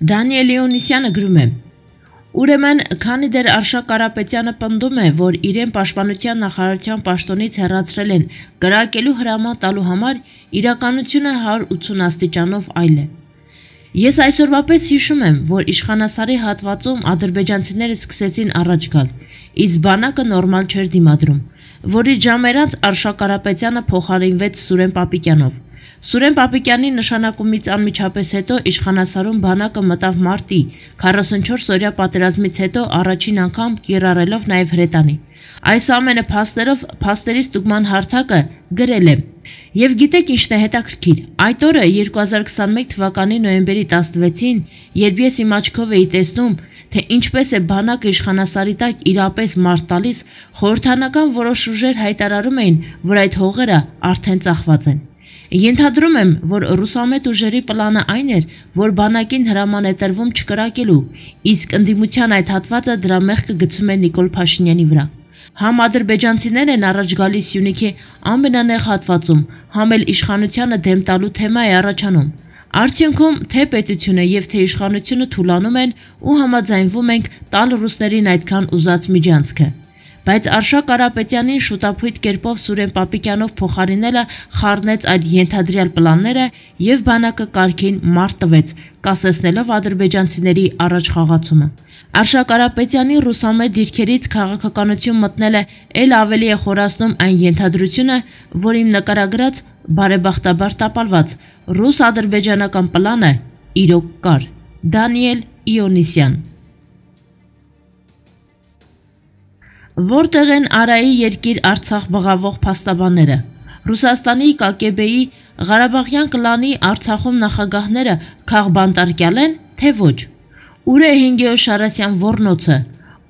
Դանիել Իոնիսյանը գրում է. Ուրեմն, քանի դեռ Արշակ Կարապետյանը պնդում է, որ իրեն Պաշտպանության նախարարության պաշտոնից հեռացրել են կրակելու հրաման տալու համար, իրականությունը 180 աստիճանով այլ է։ Ես այսօրվա պես հիշում եմ, որ իշխանասարի հատվածում ադրբեջանցիները սկսեցին առաջ գալ, իսկ բանակը նորմալ չէր դիմադրում, որի ժամեր անց Արշակ Կարապետյանը փոխարինվեց Սուրեն Պապիկյանով։ Սուրեն Պապիկյանի նշանակումից անմիջապես հետո իշխանասարում բանակը մտավ մարտի 44-օրյա պատերազմից հետո առաջին անգամ կիրառելով նաև հրետանի։ Այս ամենը փաստերով փաստերի ստուգման հարթակը գրել է։ Եվ գիտեք ինչն է հետաքրքիր, այդ օրը 2021 թվականի նոյեմբերի 16-ին, երբ ես իմ աչքով էի տեսնում, թե ինչպես է բանակը իշխանասարի տակ իրապես մարտ տալիս, խորհրդանական որոշ ուժեր հայտարարում էին, որ այդ հողերը արդեն ծախված են։ Ենթադրում եմ, որ ռուսամետ ուժերի պլանը այն էր, որ բանակին հրաման է տրվում չկրակելու, իսկ ընդդիմության այդ հատվածը դրա մեղքը գցում է Նիկոլ Փաշինյանի վրա։ Համ ադրբեջանցիներ են առաջ գալիս Սյունիքի ամենանեղ հատվածում, համ էլ իշխանությանը դեմ տալու թեմա է առաջանում։ Արդյունքում թե պետությունը եւ թե իշխանությունը թուլանում են ու համաձայնվում ենք տալ ռուսներին այդքան ուզած միջանցքը։ Բայց Արշակ Կարապետյանին շուտապույտ կերպով Սուրեն Պապիկյանով փոխարինելը խառնեց այդ ենթադրյալ պլանները եւ բանակը կարգին մարտ տվեց, կասեցնելով ադրբեջանցիների առաջխաղացումը։ Արշակ Կարապետյանի ռուսամետ դիրքերից քաղաքականություն մտնելը ել ավելի է խորացնում այն ենթադրությունը, որ իմ նկարագրած բարեբախտաբար տապալված ռուս-ադրբեջանական պլանը իրոք կար։ Դանիել Իոնիսյան Որտեղ են Արայի երկիր Արցախ բղավող փաստաբանները։ Ռուսաստանի ԿԳԲ-ի Ղարաբաղյան կլանի Արցախում նախագահները քաղբանտարկյալ են, թե ոչ։ Ուր է Հինգեո Շարասյան ոռնոցը,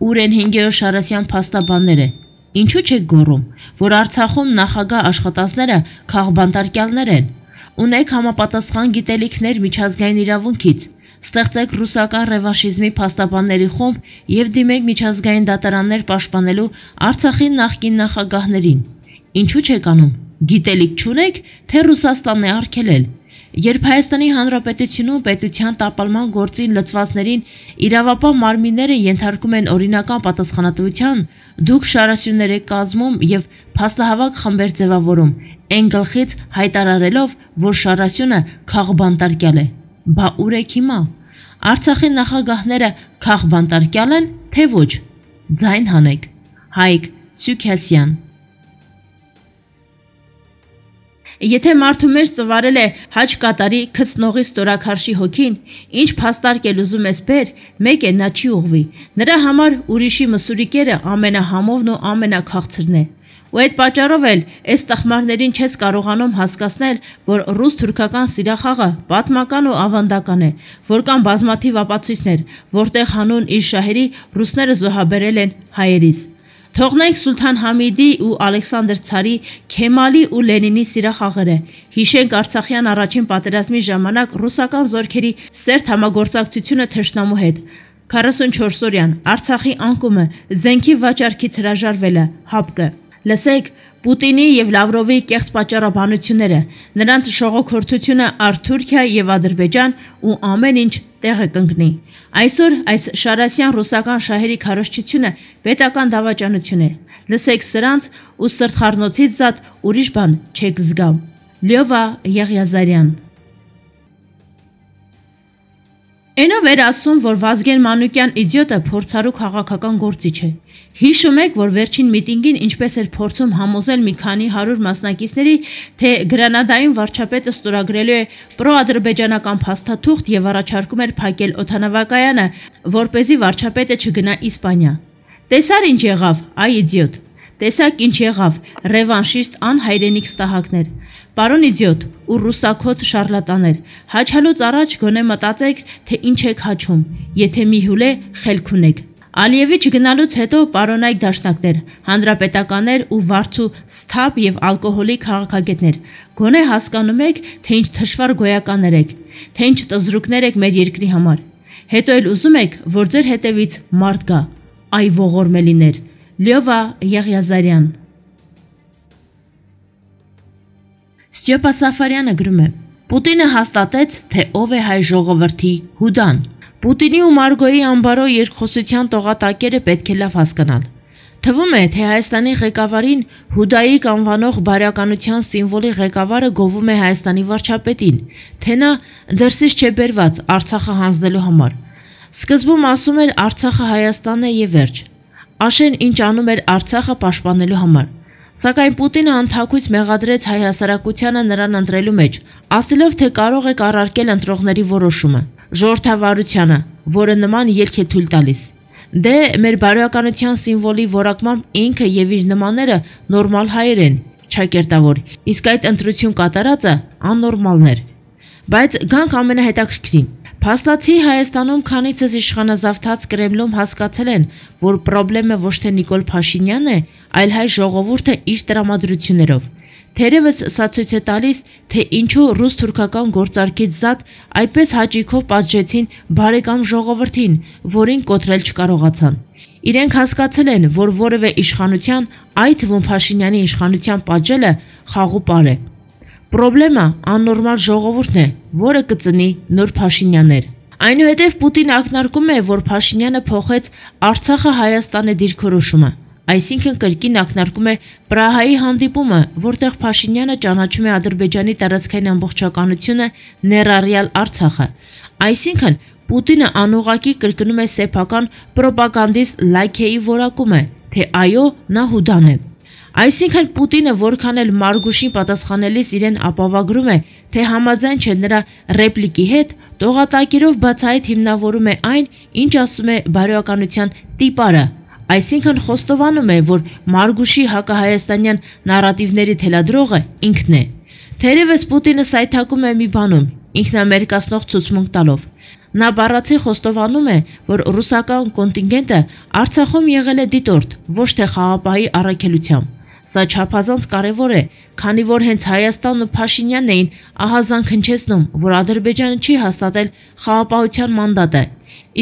ուր են Հինգեո Շարասյան փաստաբանները։ Ինչու՞ չեք գոռում, որ Արցախում նախագահ աշխատածները քաղբանտարկյալներ են։ Ունեք համապատասխան գիտելիքներ միջազգային իրավունքից։ Ստեղծեք ռուսական ռևանշիզմի փաստաբանների խումբ եւ դիմեք միջազգային դատարաններ պաշտպանելու Արցախի նախկին նախագահներին։ Ինչու՞ չեք անում։ Գիտելիք չունեք, թե Ռուսաստանն է արգելել։ Երբ Հայաստանի Հանրապետությունում պետության տապալման գործին լծվածներին իրավապահ մարմինները ենթարկում են օրինական պատասխանատվության, դուք շարասյուններ եք կազմում եւ փաստահավաք խմբեր ձևավորում, այն գլխից հայտարարելով, որ շարասյունը քաղբանտարկյալ է։ Բա ուր եք հիմա։ Արցախի նախագահները քաղբանտարկյալ են, թե ոչ։ Ձայն հանեք։ Հայկ Սուքասյան Եթե մարդու մեջ ծվարել է հաճ կատարի քծնողի ստորաքարշի հոգին, ինչ փաստարկել ուզում ես բեր, մեկ է նա չի ուղվի։ Նրա համար ուրիշի մսուրիկերը ամենահամովն ու ամենաքաղցրն է։ Ու այդ պատճառով էլ այս տխմարներին չես կարողանում հասկացնել, որ ռուս-թուրքական սիրախաղը պատմական ու ավանդական է, որ կան բազմաթիվ ապացույցներ, որտեղ հանուն իր շահերի ռուսները զոհաբերել են հայերիս։ Թողնենք Սուլթան Համիդի ու Ալեքսանդր Ցարի, Քեմալի ու Լենինի սիրախաղերը։ Հիշենք Արցախյան առաջին պատերազմի ժամանակ ռուսական զորքերի սերտ համագործակցությունը թշնամու հետ։ 44-օրյան Արցախի անկումը, զենքի վաճառքից հրաժարվելը, հապկը։ Լսեք Պուտինի եւ Լավրովի կեղծ պատճառաբանությունները, նրանց շողոքորթությունը առ Թուրքիա եւ Ադրբեջան ու ամեն ինչ տեղը կընկնի։ Այսօր այս շարասյան ռուսական շահերի քարոզչությունը պետական դավաճանություն է։ Լսեք սրանց ու սրտխառնոցից զատ ուրիշ բան չեք զգա։ Լյովա Եղիազարյան Այնով էր ասում, որ Վազգեն Մանուկյան իդիոտը փորձառու քաղաքական գործիչ է։ Հիշում եք, որ վերջին միտինգին ինչպես էր փորձում համոզել մի քանի 100 մասնակիցների, թե Գրանադայում վարչապետը ստորագրելու է պրոադրբեջանական փաստաթուղթ եւ առաջարկում էր փակել օդանավակայանը, որպեսզի վարչապետը չգնա Իսպանիա։ Տեսար ինչ եղավ, այ իդիոտ։ Տեսակ ինչ եղավ, ռևանշիստ անհայրենիք ստահակներ։ Պարոն իդիոտ ու ռուսակոց շարլատաներ, հաչալուց առաջ գոնե մտածեք, թե ինչ եք հաչում, եթե մի հուլե խելք ունեք։ Ալիևի չգնալուց հետո պարոնայք դաշնակներ, հանրապետականներ ու վարձու սթափ եւ ալկոհոլի քաղաքագետներ, գոնե հասկանում եք, թե ինչ թշվառ գոյականներ եք, թե ինչ տզրուկներ եք մեր երկրի համար։ Հետո էլ ուզում եք, որ ձեր հետևից մարդ գա, այ ողորմելիներ։ Լյովա Եղիազարյան Ստյոպա Սաֆարյանը գրում է. Պուտինը հաստատեց, թե ով է հայ ժողովրդի հուդան։ Պուտինի ու Մարգոյի ամբարո երկխոսության տողատակերը պետք է լավ հասկանալ։ Թվում է, թե Հայաստանի ղեկավարին Հուդայիկ անվանող բարյականության սիմվոլի ղեկավարը գովում է Հայաստանի վարչապետին, թե նա դրսից չէ բերված Արցախը հանձնելու համար։ Սկզբում ասում էր Արցախը Հայաստանն է եւ վերջ։ Աշեն ինչ անում էր Արցախը պաշտպանելու համար։ Սակայն Պուտինը անթաքույց մեղադրեց հայ հասարակությանը նրան ընտրելու մեջ, ասելով, թե կարող է կառարկել ընտրողների որոշումը, ժողովրդավարությանը, որը նման ելք է թույլ տալիս։ Դե մեր բարոյականության սիմվոլի որակմամբ ինքը եւ իր նմանները նորմալ հայեր են, չակերտավոր, իսկ այդ ընտրություն կատարածը աննորմալներ։ Բայց գանք ամենահետաքրքրին։ Փաստացի Հայաստանում քանիցս իշխանազավթած Կրեմլում հասկացել են, որ պրոբլեմը ոչ թե Նիկոլ Փաշինյանն է, այլ հայ ժողովուրդը իր տրամադրություններով։ Թերևս սա ցույց է տալիս, թե ինչու ռուս-թուրքական գործարքից զատ այդպես հաճույքով պատժեցին բարեկամ ժողովրդին, որին կոտրել չկարողացան։ Իրենք հասկացել են, որ որևէ իշխանության, այդ թվում Փաշինյանի իշխանության պատժելը խաղուպար է։ Պրոբլեմը աննորմալ ժողովուրդն է, որը կծնի նոր Փաշինյաններ։ Այնուհետև Պուտինը ակնարկում է, որ Փաշինյանը փոխեց Արցախը Հայաստանի դիրքորոշումը, այսինքն կրկին ակնարկում է Պրահայի հանդիպումը, որտեղ Փաշինյանը ճանաչում է Ադրբեջանի տարածքային ամբողջականությունը, ներառյալ Արցախը։ Այսինքն Պուտինը անուղղակի կրկնում է սեփական պրոպագանդիստ Լայքեի որակումը, թե այո, նա հուդան է։ Այսինքն Պուտինը որքան էլ Մարգուշին պատասխանելիս իրեն ապավագրում է, թե համաձայն չէ նրա ռեպլիկի հետ, տողատակերով բացահայտ հիմնավորում է այն, ինչ ասում է բարոյականության տիպարը, այսինքն խոստովանում է, որ Մարգուշի հակահայաստանյան նարատիվների թելադրողը ինքն է։ Թերևս Պուտինը սայթակում է մի բանում, ինքնամերկացնող ցուցմունք տալով։ Նա բառացի խոստովանում է, որ ռուսական կոնտինգենտը Արցախում եղել է դիտորդ, ոչ թե խաղապահի առաքելությամբ։ Սա չափազանց կարևոր է, քանի որ հենց Հայաստանն ու Փաշինյանն էին ահազանգ հնչեցնում, որ Ադրբեջանը չի հաստատել խաղապահության մանդատը։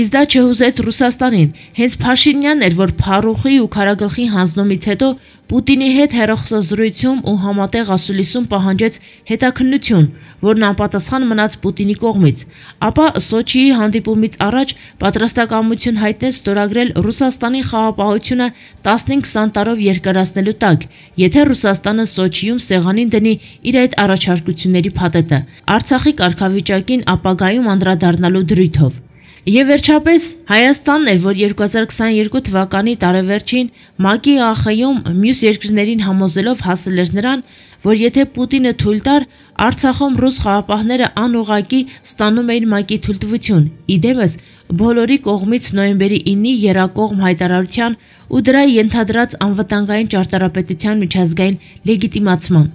Իսկ դա չհուզեց Ռուսաստանին, հենց Փաշինյանն էր, որ Փարուխի ու Քարագլխի հանձնումից հետո Պուտինի հետ հեռախոսազրույցում ու համատեղ ասուլիսում պահանջեց հետաքննություն, որն անպատասխան մնաց Պուտինի կողմից, ապա Սոչիի հանդիպումից առաջ պատրաստակամություն հայտնեց ստորագրել Ռուսաստանի խաղապահությունը 15-20 տարով երկարացնելու տակ, եթե Ռուսաստանը Սոչիում սեղանին դնի իր այդ առաջարկությունների փաթեթը, Արցախի կարգավիճակին ապագայում անդրադառնալու դրույթով։ Եվ վերջապես Հայաստանն էր, որ 2022 թվականի տարեվերջին ՄԱԿ-ի ԱԽ-ում մյուս երկրներին համոզելով հասել էր նրան, որ եթե Պուտինը թույլ տար, Արցախում ռուս խաղապահները անուղղակի ստանում էին ՄԱԿ-ի թույլտվություն, իդեմս բոլորի կողմից նոյեմբերի 9-ի եռակողմ հայտարարության ու դրա ենթադրած անվտանգային ճարտարապետության միջազգային լեգիտիմացման,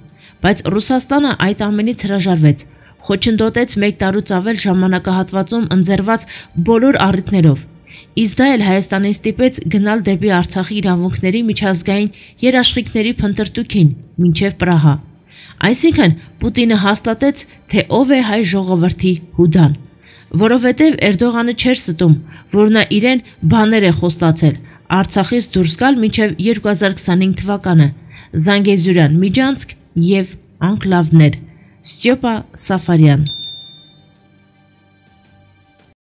բայց Ռուսաստանը այդ ամենից հրաժարվեց, խոչընդոտեց 1 տարուց ավել ժամանակահատվածում ընձեռված բոլոր առիթներով։ Իսկ դա էլ Հայաստանին ստիպեց գնալ դեպի Արցախի իրավունքների միջազգային երաշխիքների փնտրտուքին, մինչև Պրահա։ Այսինքն Պուտինը հաստատեց, թե ով է հայ ժողովրդի հուդան, որովհետև Էրդողանը չէր ստում, որ նա իրեն բաներ է խոստացել Արցախից դուրս գալ մինչև 2025 թվականը, Զանգեզուրյան միջանցք եւ անկլավներ։ Ստյոպա Սաֆարյան